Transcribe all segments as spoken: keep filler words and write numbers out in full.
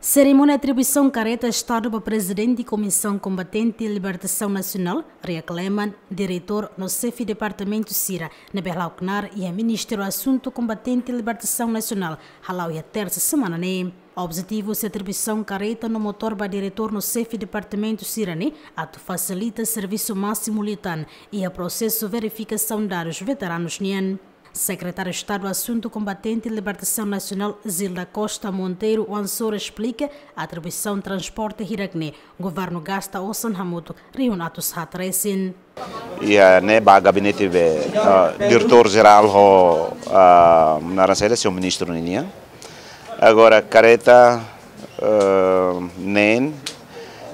Serimónia atribuisaun kareta Estadu ba Prezidente Komisaun Kombatente Libertasaun Nasionál, Ria Kleman, Diretór no Xefe Departamentu sira ne'ebé hala'o knaar iha Ministériu Asuntu Kombatente Libertasaun Nasionál, hala'o iha tersa semana ne'e. Objetivu husi atribuisaun kareta no motór ba diretór no xefe departamentu sira-ne'e atu fasilita servisu másimu liután iha prosesu verifikasaun dadus veteranus nian. Sekretáriu Estadu Asuntu Kombatente Libertasaun Nasionál, Zilda Costa Monteiro Oansoro, esplika atribuisaun transporte hirak-ne'e governu gasta osan hamutuk rihun atus haat resin. Iha ne'e ba gabinete be, ah, diretór jerál ho, ah, naran saida, señór ministru ninian. Agora kareta, ah, neen,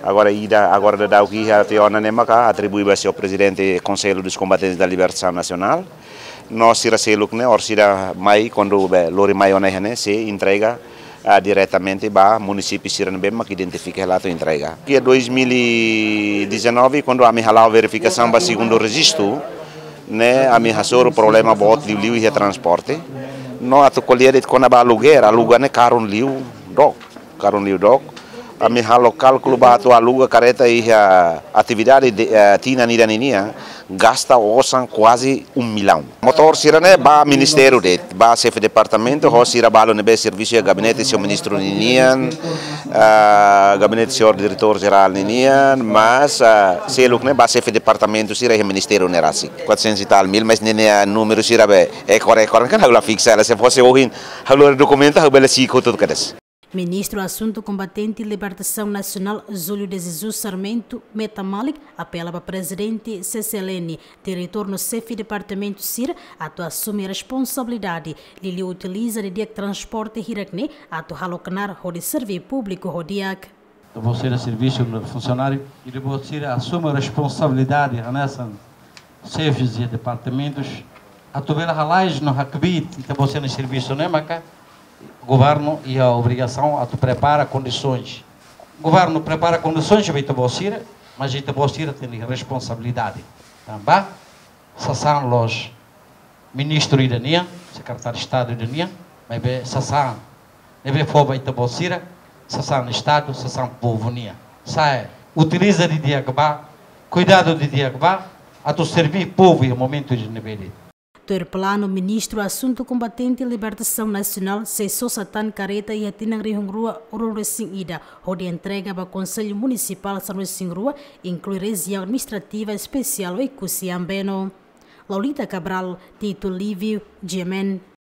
agora ida, agora daudaun iha tiha ona ne'e maka atribui ba señór Prezidente Konsellu dos Combatentes da Libertação Nacional. No sira seluk ne'e, orsida mai, kuandu be lori mai ona iha ne'e, sei entrega, ah, diretamente ba munisípiu sira ne'ebé mak identifika hela atu entrega. Iha dois mil e dezanove, kuandu ami hala'o verifikasaun ba segundu rejistu, ne'e ami hasoru problema boot liuliu iha transporte. No atu ko'alia de'it kona-ba aluguer, aluga ne'e karun liu dook, karun liu dook. Ami halo kálkulu ba atu aluga kareta iha atividade de, eh, tinan ida ninian, gasta osan kuaze um milhão. Motór sira-ne'e ba ministériu de'it, ba xefe departamentu, ho sira balu ne'ebé servisu iha gabinete señór ministru ninian, ah, gabinete señór diretór jerál ninian, mas, ah, seluk ne'e ba xefe departamentu sira iha ministériu ne'e rasik. Quatrocentos e tal mil, mas ne'e, ne'e númeru sira be ekor, ekor, kan ha'u la fiksa hela, se fosse ohin, ha'u lori dokumentu, ha'u bele si'ik hotu kedas. Ministru Asuntu Kombatente Libertasaun Nasionál, Júlio de Jesus Sarmento, meta malik, apela ba Prezidente C C L N, diretór no xefe departamentu sira atu asume responsabilidade, liuliu utiliza didi'ak transporte hirak-ne'e atu halo knaar hodi serve públiku ho di'ak. Ita-boot sira servisu no funsionáriu, ita-boot sira asume responsabilidade, hanesan xefes de departamentus, atu bele halais no hakbiit ita-boot sira-nia servisu ne'e maka governu iha obrigasaun atu prepara kondisoens. Governu prepara kondisoens ba ita-boot sira, mas ita-boot sira tenke responsabilidade. Tanba sasán la'ós ministru ida nian, sekretáriu Estadu ida nian, maibé sasán ne'ebé fó ba ita-boot sira, sasán Estadu, sasán povu nian. Sa'e, utiliza didi'ak ba, kuidadu didi'ak ba, atu serve povu iha momentu ida ne'ebé de'it. Tuir planu, Ministru Asuntu Kombatente Libertasaun Nasionál sei sosa tan kareta iha tinan rihun rua ruanulu-resin-ida, hodi entrega ba Konsellu Munisipál sanulu-resin-rua, inklui Rejiaun Administrativa Espesiál Oekusi Ambeno. Laulita Cabral, Tito Livio, G M N.